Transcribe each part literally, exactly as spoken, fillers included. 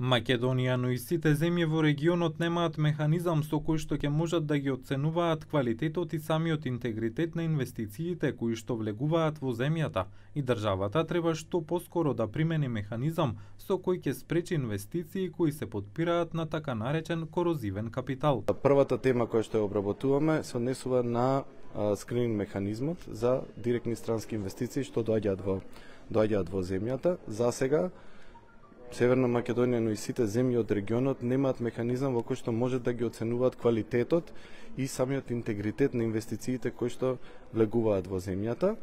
Македонија, но и сите земји во регионот немаат механизам со кој што ќе можат да ги оценуваат квалитетот и самиот интегритет на инвестициите кои што влегуваат во земјата, и државата треба што поскоро да примени механизам со кој ќе спречи инвестиции кои се потпираат на така наречен корозивен капитал. Првата тема која што ја обработуваме се однесува на скрининг механизмот за директни странски инвестиции што доаѓаат во доаѓаат во земјата. За сега Северна Македонија, но и сите земји од регионот немаат механизам во кој што може да ги оценуваат квалитетот и самиот интегритет на инвестициите кои што влегуваат во земјата.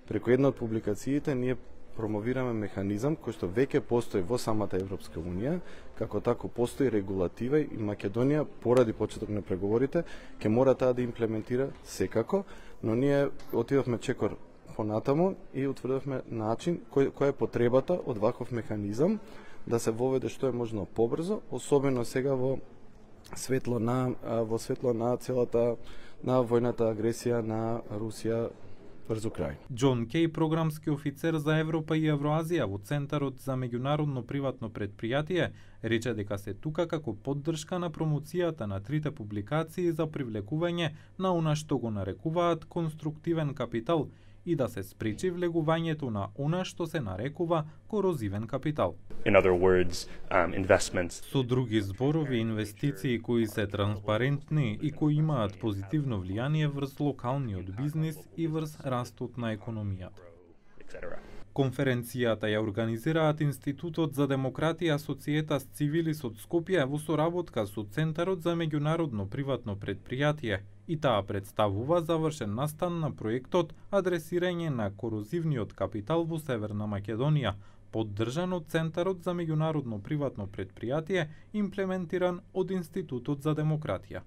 Преку една од публикациите ние промовираме механизам кој што веќе постои во самата Европска унија, како тако постои регулатива и Македонија поради почеток на преговорите ќе мора таа да имплементира секако, но ние отидовме чекор понатаму и утврдивме начин кој, која е потребата од ваков механизам да се воведе што е можно побрзо, особено сега во светло на во светло на целата на војната агресија на Русија врз Украина. Џон Кеј, програмски офицер за Европа и Евроазија во Центарот за меѓународно приватно предпријатие, рече дека се тука како поддршка на промоцијата на трите публикации за привлекување на она што го нарекуваат конструктивен капитал и да се спречи влегувањето на она што се нарекува корозивен капитал. In other words, um, investments. Со други зборови, инвестиции кои се транспарентни и кои имаат позитивно влијание врз локалниот бизнис и врз растот на економијата. Конференцијата ја организираат Институтот за демократија Societas Civilis од Скопје во соработка со Центарот за меѓународно приватно предпријатие, и таа представува завршен настан на проектот Адресирање на корозивниот капитал во Северна Македонија, поддржан од Центарот за меѓународно приватно предпријатие, имплементиран од Институтот за демократија.